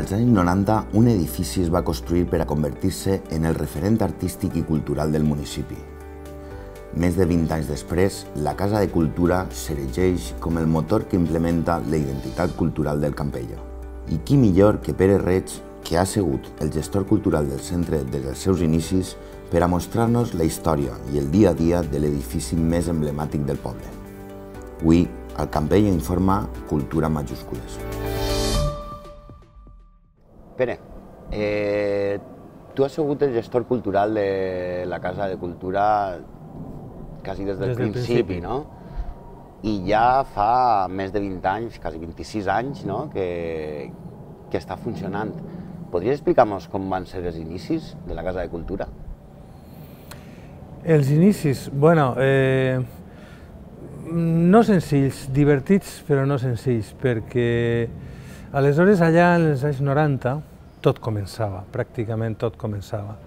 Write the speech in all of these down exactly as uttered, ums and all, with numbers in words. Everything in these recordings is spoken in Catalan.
Als anys noranta, un edifici es va construir per a convertir-se en el referent artístic i cultural del municipi. Més de vint anys després, la Casa de Cultura s'erigeix com el motor que implementa la identitat cultural del Campello. I qui millor que Pere Reig, que ha sigut el gestor cultural del centre des dels seus inicis, per a mostrar-nos la història i el dia a dia de l'edifici més emblemàtic del poble. Avui, el Campello informa Cultura en majúscules. Pere, eh, tu has sigut el gestor cultural de la Casa de Cultura quasi des del, des del principi, principi, no? I ja fa més de vint anys, quasi vint-i-sis anys, no? que, que està funcionant. Podries explicar-nos com van ser els inicis de la Casa de Cultura? Els inicis, bueno, eh, no senzills, divertits però no senzills, perquè aleshores allà en els anys noranta tot començava, pràcticament tot començava.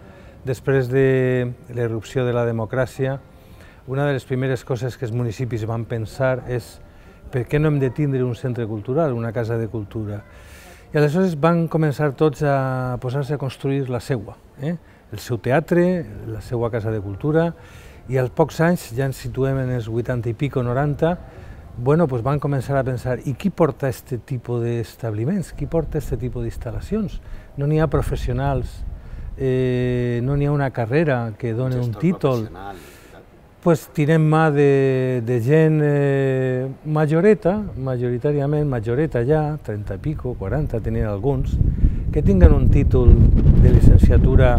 Després de l'erupció de la democràcia, una de les primeres coses que els municipis van pensar és per què no hem de tindre un centre cultural, una casa de cultura. I aleshores van començar tots a posar-se a construir la seua, eh? el seu teatre, la seua casa de cultura, i als pocs anys, ja ens situem en els vuitanta i pico, noranta, bueno, pues van començar a pensar, i qui porta aquest tipus d'establiments? Qui porta aquest tipus d'instal·lacions? No n'hi ha professionals, eh, no n'hi ha una carrera que doni un títol. Pues tirem mà de, de gent eh, majoreta, majoritàriament majoreta ja, trenta i pico, quaranta, tenien alguns, que tinguen un títol de llicenciatura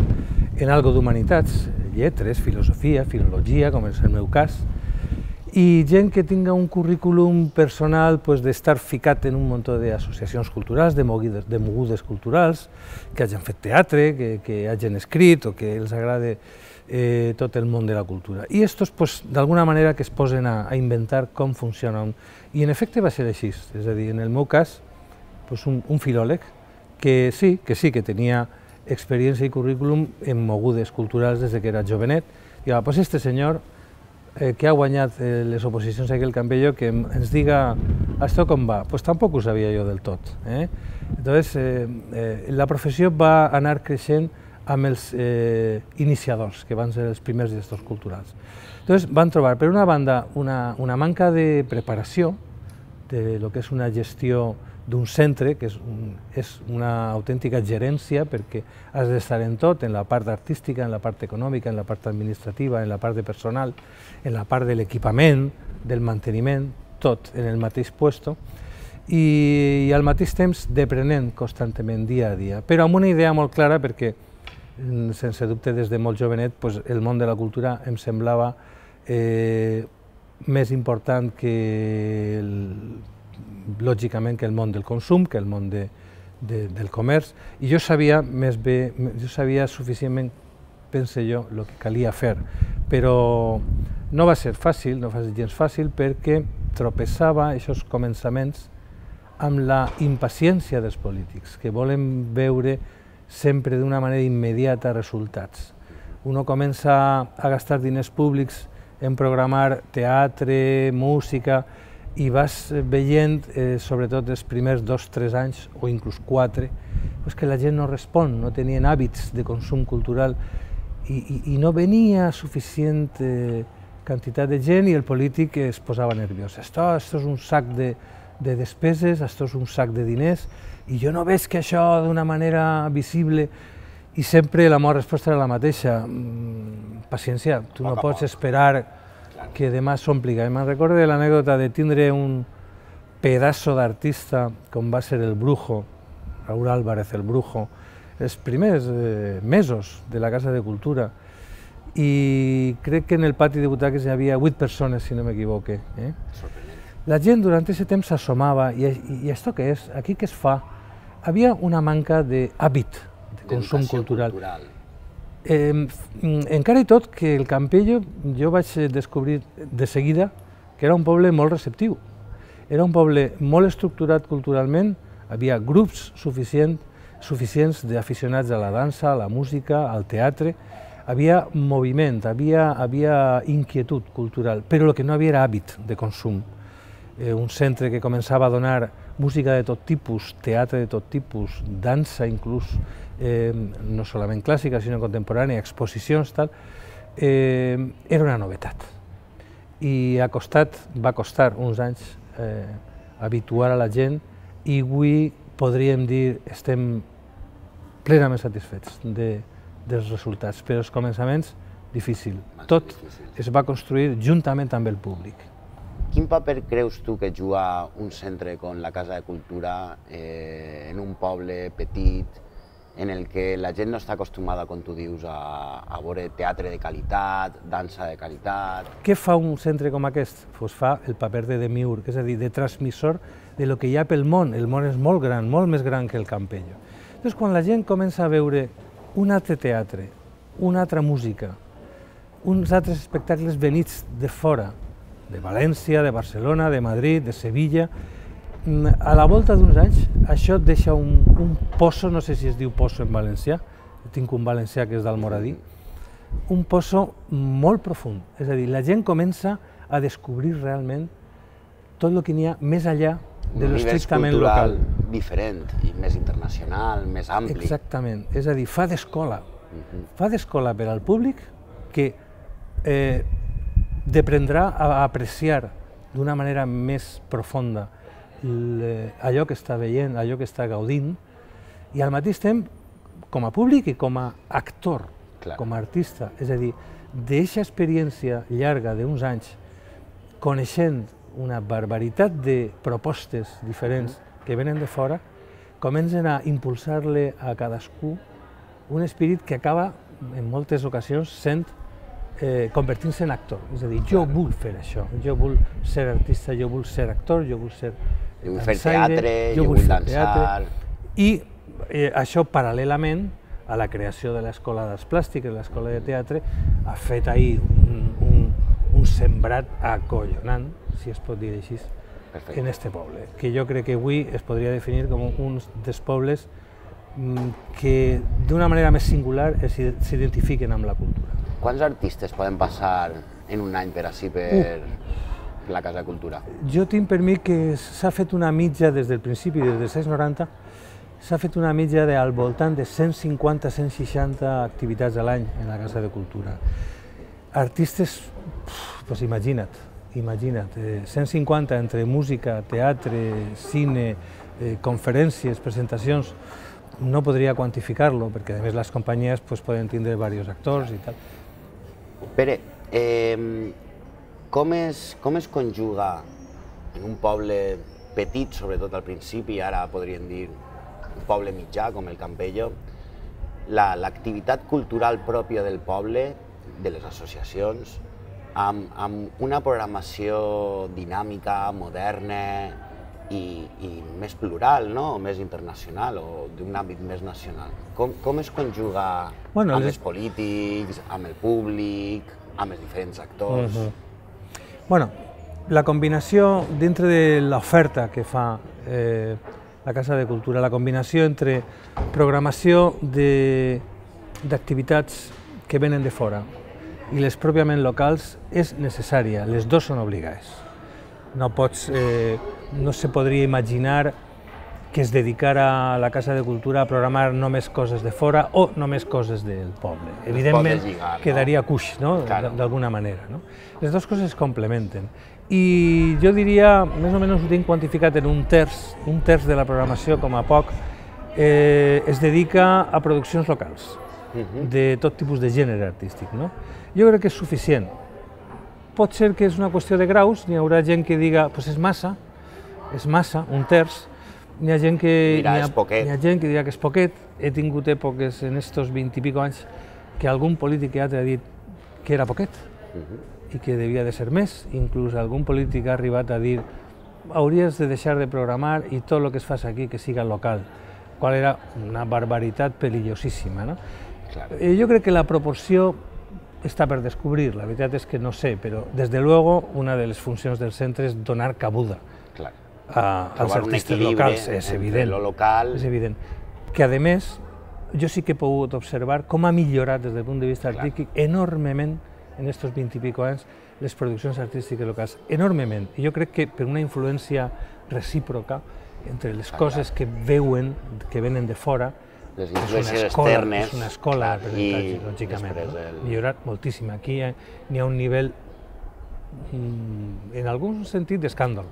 en algo d'humanitats, lletres, filosofia, filologia, com és el meu cas, i gent que tinga un currículum personal pues, d'estar ficat en un munt d'associacions culturals, de mogudes, de mogudes culturals, que hagin fet teatre, que, que hagin escrit o que els agrade eh, tot el món de la cultura. I estos, pues, d'alguna manera, que es posen a, a inventar com funciona. I en efecte va ser així, és a dir, en el meu cas, pues, un, un filòleg que sí, que sí, que tenia experiència i currículum en mogudes culturals des que era jovenet, i va, pues este senyor eh, que ha guanyat eh, les oposicions aquí al Campello, que ens diga això com va, pues tampoc ho sabia jo del tot. Eh? Entonces, eh, eh, la professió va anar creixent amb els eh, iniciadors, que van ser els primers gestors culturals. Entonces, van trobar, per una banda, una, una manca de preparació de lo que és una gestió d'un centre, que és, un, és una autèntica gerència, perquè has d'estar en tot, en la part artística, en la part econòmica, en la part administrativa, en la part de personal, en la part de l'equipament, del manteniment, tot en el mateix puesto, i, i al mateix temps deprenent constantment, dia a dia, però amb una idea molt clara, perquè sense dubte des de molt jovenet pues, el món de la cultura em semblava eh, més important que el, lògicament que el món del consum, que el món de, de, del comerç, i jo sabia més bé, jo sabia suficientment, pense jo, el que calia fer, però no va ser fàcil, no va ser gens fàcil, perquè tropeçava aquests començaments amb la impaciència dels polítics, que volen veure sempre d'una manera immediata resultats. Uno comença a gastar diners públics en programar teatre, música, i vas veient, eh, sobretot els primers dos o tres anys, o inclús quatre, pues que la gent no respon, no tenien hàbits de consum cultural i, i, i no venia suficient eh, quantitat de gent i el polític es posava nerviós. Esto, esto és un sac de, de despeses, esto és un sac de diners i jo no veig que això d'una manera visible, i sempre la meva resposta era la mateixa. Paciència, tu no pots esperar que demà s'ompliga. Me'n recordo de l'anècdota de tindre un pedaço d'artista com va ser el Brujo, Raúl Álvarez, el Brujo, els primers eh, mesos de la Casa de Cultura, i crec que en el pati de butaques hi havia vuit persones, si no m'equivoque. Eh? La gent durant aquest temps s'assomava, i, i, i això què és? Aquí què es fa? Havia una manca d'hàbit de consum cultural. cultural. Eh, encara i tot que el Campello jo vaig descobrir de seguida que era un poble molt receptiu. Era un poble molt estructurat culturalment, havia grups suficient, suficients d'aficionats a la dansa, a la música, al teatre, havia moviment, havia, havia inquietud cultural, però el que no havia era hàbit de consum. eh, un centre que començava a donar música de tot tipus, teatre de tot tipus, dansa inclús, eh, no solament clàssica, sinó contemporània, exposicions, tal, eh, era una novetat. I ha costat, va costar uns anys eh, habituar a la gent i avui podríem dir estem plenament satisfets de, dels resultats, però els començaments difícil. Tot es va construir juntament amb el públic. Quin paper creus tu que juga un centre com la Casa de Cultura eh, en un poble petit en el que la gent no està acostumada, com tu dius, a, a veure teatre de qualitat, dansa de qualitat? Què fa un centre com aquest? Pues fa el paper de demiurg, és a dir, de transmissor de lo que hi ha pel món. El món és molt gran, molt més gran que el Campello. Llavors, quan la gent comença a veure un altre teatre, una altra música, uns altres espectacles venits de fora, de València, de Barcelona, de Madrid, de Sevilla, a la volta d'uns anys això et deixa un, un pozo, no sé si es diu pozo en valencià, tinc un valencià que és d'Almoradí, un pozo molt profund, és a dir, la gent comença a descobrir realment tot el que n'hi ha més enllà de l'estrictament local. Un univers cultural diferent, i més internacional, més ampli. Exactament, és a dir, fa d'escola, fa d'escola per al públic que eh, deprendrà a apreciar d'una manera més profunda allò que està veient, allò que està gaudint, i al mateix temps, com a públic i com a actor, Clar. com a artista, és a dir, d'eixa experiència llarga d'uns anys, coneixent una barbaritat de propostes diferents que venen de fora, comencen a impulsar-le a cadascú un esperit que acaba, en moltes ocasions, sent Eh, convertint-se en actor, és a dir, jo vull fer això, jo vull ser artista, jo vull ser actor, jo vull ser dansaire, jo vull fer teatre, jo vull dansar... I eh, això, paral·lelament a la creació de l'Escola d'Arts Plàstiques, l'Escola de Teatre, ha fet ahir un, un, un sembrat acollonant, si es pot dir així, Perfecte. en este poble, que jo crec que avui es podria definir com un dels pobles que d'una manera més singular s'identifiquen amb la cultura. Quants artistes poden passar en un any per així per uh. la Casa de Cultura? Jo tinc per mi que s'ha fet una mitja des del principi, des dels anys noranta, s'ha fet una mitja de, al voltant de cent cinquanta a cent seixanta activitats a l'any en la Casa de Cultura. Artistes, doncs imagina't, imagina't, eh, cent cinquanta entre música, teatre, cine, eh, conferències, presentacions, no podria quantificar-lo, perquè a més les companyies pues, poden tindre diversos actors i tal. Pere, eh, com, es, com es conjuga en un poble petit, sobretot al principi, ara podríem dir un poble mitjà com el Campello, l'activitat la, cultural pròpia del poble, de les associacions, amb, amb una programació dinàmica, moderna, I, i més plural, no? O més internacional, o d'un àmbit més nacional. Com, com es conjuga bueno, amb les... els polítics, amb el públic, amb els diferents actors? Uh -huh. Bueno, la combinació dintre de l'oferta que fa eh, la Casa de Cultura, la combinació entre programació d'activitats que venen de fora i les pròpiament locals és necessària, les dues són obligades. No pots... Eh, no se podria imaginar que es dedicara a la Casa de Cultura a programar només coses de fora o només coses del poble. Evidentment, lligar, no? Quedaria cuix, no? Claro. D'alguna manera. No? Les dues coses es complementen. I jo diria, més o menys ho tinc quantificat en un terç, un terç de la programació, com a poc, eh, es dedica a produccions locals, uh-huh. de tot tipus de gènere artístic. No? Jo crec que és suficient. Pot ser que és una qüestió de graus, n'hi haurà gent que diga, pues és massa, és massa, un terç, n'hi ha gent que Mira, n'hi ha, és poquet. N'hi ha gent que dirà que és poquet. He tingut èpoques en estos vint i pico anys que algun polític ha dit que era poquet uh-huh. i que devia de ser més. Inclús algun polític ha arribat a dir hauries de deixar de programar i tot el que es fas aquí que siga local, qual era una barbaritat perillosíssima. No? Claro. Eh, jo crec que la proporció està per descobrir, la veritat és que no sé, però des de luego una de les funcions del centre és donar cabuda Claro. A, als artistes locals, és evident, lo local. és evident. Que a més, jo sí que he pogut observar com ha millorat des del punt de vista artístic enormement en aquests vint i pico anys les produccions artístiques locals, enormement. I jo crec que per una influència recíproca entre les coses que veuen, que venen de fora, les influències externes, és una escola d'aprenentatge, lògicament, millorat moltíssim. Aquí n'hi ha un nivell, en algun sentit, d'escàndol.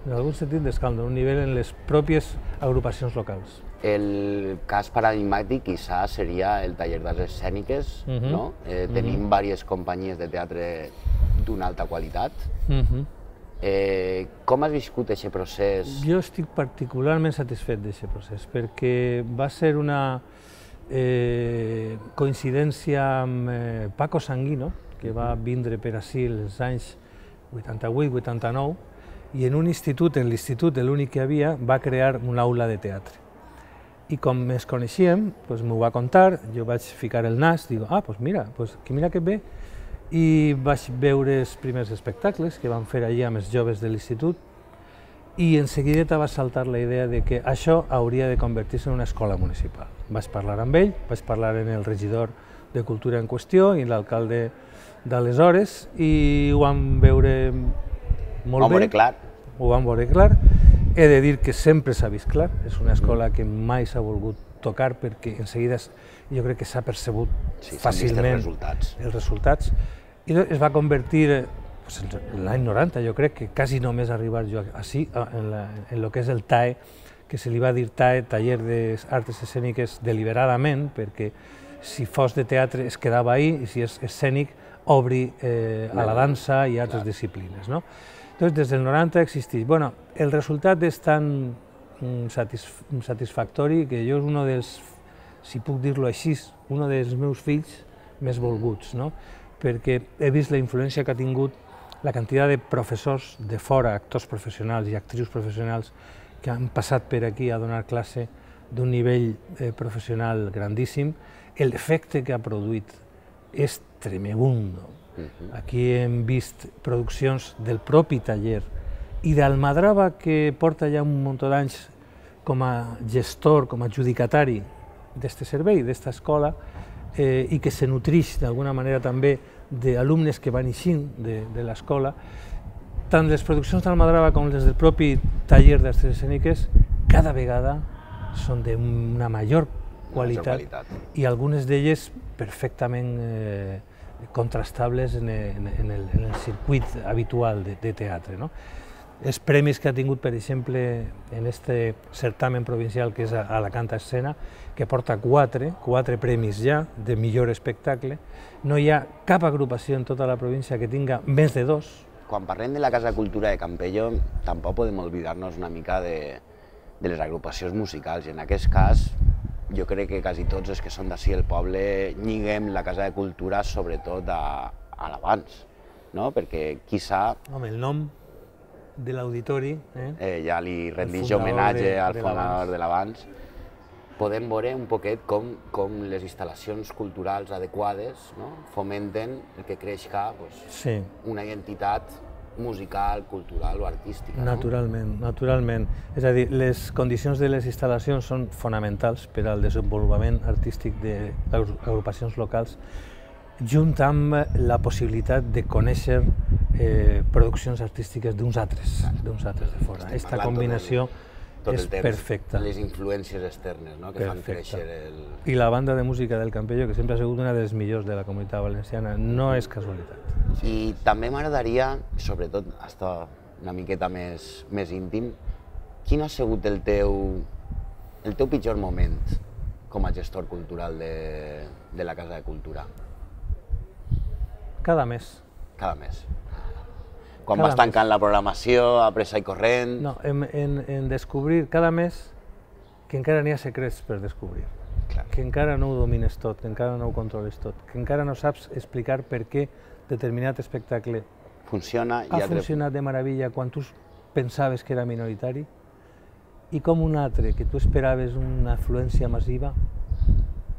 En algun sentit d'escàndol, un nivell en les pròpies agrupacions locals. El cas paradigmàtic, quizás, seria el taller d'arts escèniques, no? Tenim diverses companyies de teatre d'una alta qualitat. Com has viscut aquest procés? Jo estic particularment satisfet d'aquest procés, perquè va ser una coincidència amb Paco Sanguino, que va vindre per ací els anys vuitanta-vuit vuitanta-nou, i en un institut, en l'institut, l'únic que hi havia, va crear una aula de teatre. I com ens coneixíem, m'ho va contar, jo vaig ficar el nas, dic, ah, doncs mira, mira que bé, i vaig veure els primers espectacles que van fer allà amb els joves de l'institut i en seguida va saltar la idea de que això hauria de convertir-se en una escola municipal. Vaig parlar amb ell, vaig parlar amb el regidor de Cultura en qüestió i l'alcalde d'aleshores i ho vam veure molt bé. Ho vam veure clar. Ho vam veure clar. He de dir que sempre s'ha vist clar, és una escola que mai s'ha volgut tocar perquè en seguida jo crec que s'ha percebut fàcilment els resultats i es va convertir en l'any noranta, jo crec que quasi només arribar jo així, en el que és el T A E, que se li va dir T A E, Taller d'Arts Escèniques, deliberadament, perquè si fos de teatre es quedava ahí i si és escènic obri a la dansa i a altres disciplines. Doncs des del noranta existeix. Bueno, el resultat és tan satisfactori que jo és un dels, si puc dir-lo així, un dels meus fills més volguts, perquè he vist la influència que ha tingut la quantitat de professors de fora, actors professionals i actrius professionals que han passat per aquí a donar classe d'un nivell professional grandíssim. L'efecte que ha produït és tremebundo. Aquí hem vist produccions del propi taller i d'Almadrava, que porta ja un munt d'anys com a gestor, com a adjudicatari d'aquest servei, d'aquesta escola, i que se nutrix d'alguna manera també d'alumnes que van eixint de l'escola, tant les produccions d'Almadrava com les del propi taller d'arts escèniques cada vegada són d'una major qualitat i algunes d'elles perfectament contrastables en el circuit habitual de teatre. Els premis que ha tingut, per exemple, en aquest certamen provincial que és Alacant Escena, que porta quatre, quatre premis ja de millor espectacle, no hi ha cap agrupació en tota la província que tinga més de dos. Quan parlem de la Casa de Cultura de Campello, tampoc podem oblidar-nos una mica de les agrupacions musicals. I en aquest cas, jo crec que quasi tots els que són d'ací el poble lliguem la Casa de Cultura sobretot a l'Abans, perquè quizà... Home, el nom de l'auditori... Ja li rendix homenatge al fundador de l'Abans. Podem veure un poquet com les instal·lacions culturals adequades fomenten el que creixca una identitat musical, cultural o artística. Naturalment, naturalment. És a dir, les condicions de les instal·lacions són fonamentals per al desenvolupament artístic de les agrupacions locals, junt amb la possibilitat de conèixer produccions artístiques d'uns altres, d'uns altres de fora. Aquesta combinació és perfecta. Les influències externes que fan créixer el... I la banda de música del Campello, que sempre ha sigut una de les millors de la Comunitat Valenciana, no és casualitat. I també m'agradaria, sobretot estar una miqueta més íntim, quin ha sigut el teu pitjor moment com a gestor cultural de la Casa de Cultura? Cada mes. Cada mes. Quan vas tancant la programació, a pressa i corrent... No, en descobrir cada mes que encara n'hi ha secrets per descobrir, que encara no ho domines tot, que encara no ho controles tot, que encara no saps explicar per què determinat espectacle ha funcionat de meravella quan tu pensaves que era minoritari i com un altre, que tu esperaves una afluència massiva,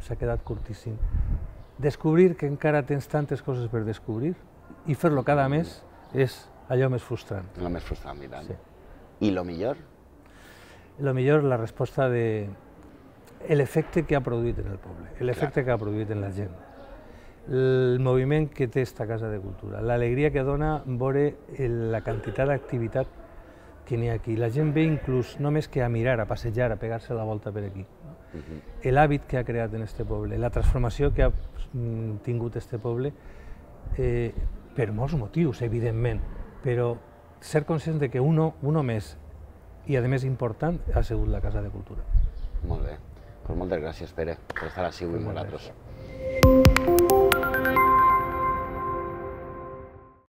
s'ha quedat curtíssim. Descobrir que encara tens tantes coses per descobrir i fer-lo cada mes és allò més frustrant. El més frustrant, i tant. I el millor? El millor, la resposta de l'efecte que ha produït en el poble, l'efecte que ha produït en la gent. el moviment que té esta Casa de Cultura, l'alegria que dona veure la quantitat d'activitat que n'hi ha aquí. La gent ve inclús només que a mirar, a passejar, a pegar-se la volta per aquí. L'hàbit que ha creat en este poble, la transformació que ha tingut este poble, per molts motius, evidentment, però ser conscient de que uno, uno més, i a més important, ha sigut la Casa de Cultura. Molt bé. Pues moltes gràcies, Pere, per estar així avui amb nosaltres.